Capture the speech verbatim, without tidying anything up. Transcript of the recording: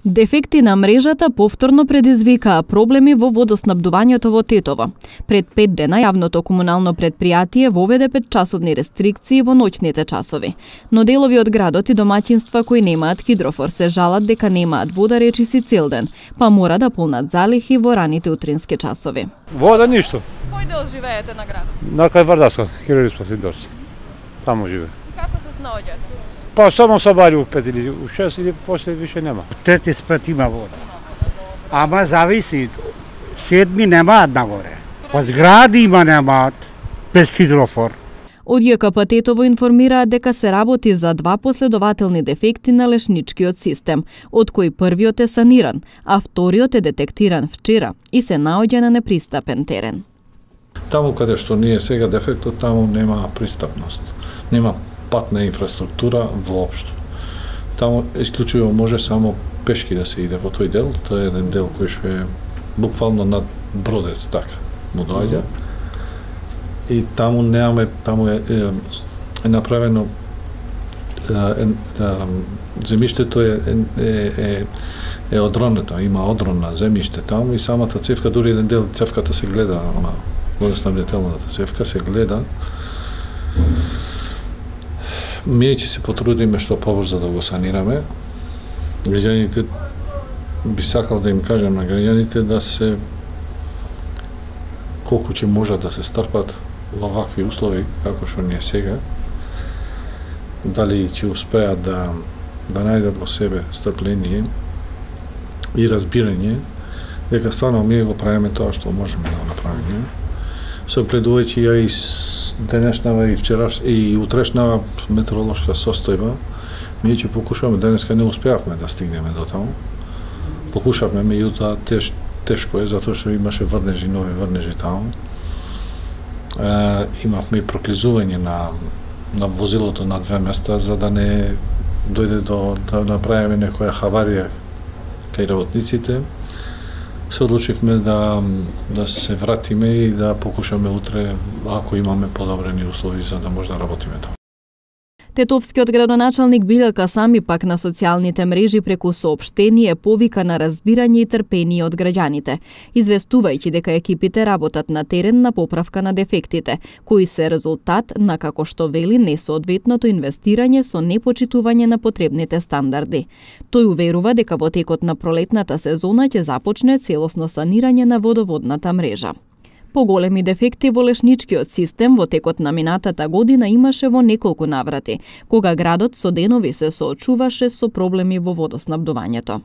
Дефекти на мрежата повторно предизвикаа проблеми во водоснабдувањето во Тетово. Пред пет дена јавното комунално предпријатие воведе петчасовни рестрикции во ноќните часови. Но делови од градот и домаќинства кои немаат хидрофор се жалат дека немаат вода речиси цел ден, па мора да полнат залихи во раните утрински часови. Вода ништо. Кој дел живеете на градот? На кај Вардаска, Кирилиспас индустрија. Таму живе. Како се снаоѓате? Па само сабари у пет или у шест или после више нема. Трети спет има вода. Ама зависи. Седми немаат нагоре. Па згради има немаат без хидрофор. Од ЈКП Тетово информираат дека се работи за два последователни дефекти на лешничкиот систем, од кои првиот е саниран, а вториот е детектиран вчера и се наоѓа на непристапен терен. Таму каде што ние сега дефектот, таму нема пристапност. Нема патна инфраструктура воопшто. Таму исклучиво може само пешки да се иде во тој дел. Тоа е еден дел кој што е буквално над бродец, така му доаѓа. И таму немаме, таму е, е, е направено е, е, земјиштето е е е е одронето, има одрон на земјиште таму и самата цевка, дури еден дел цевката се гледа, она водоснабдителната цевка се гледа. Ние ќе се потрудиме што побрзо да го санираме. Граѓаните, би сакал да им кажам на граѓаните да се колку ќе можат да се стрпат во вакви услови како што ние сега. Дали ќе успеат да да најдат во себе стрпление и разбирање дека стварно ние го правиме тоа што можеме да го направиме. Согледувајќи ја и денешнава и вчераш и утрешнава метеоролошка состојба, ние ќе покушаме, денеска не успеавме да стигнеме до таму. Покушавме, меѓутоа теш, тешко е, затоа што имаше врнежи, нови врнежи таму. Е, имавме и проклизување на, на возилото на две места, за да не дојде до да направиме некоја хаварија кај работниците. Се одлучивме да, да се вратиме и да покушаме утре, ако имаме подобрени услови, за да може да работиме таму. Тетовскиот градоначалник Билјан Касами пак на социјалните мрежи преку соопштение повика на разбирање и трпение од граѓаните, известувајќи дека екипите работат на терен на поправка на дефектите, кои се резултат на, како што вели, несоодветното инвестирање со непочитување на потребните стандарди. Тој уверува дека во текот на пролетната сезона ќе започне целосно санирање на водоводната мрежа. Поголеми дефекти во лешничкиот систем во текот на минатата година имаше во неколку наврати, кога градот со денови се соочуваше со проблеми во водоснабдувањето.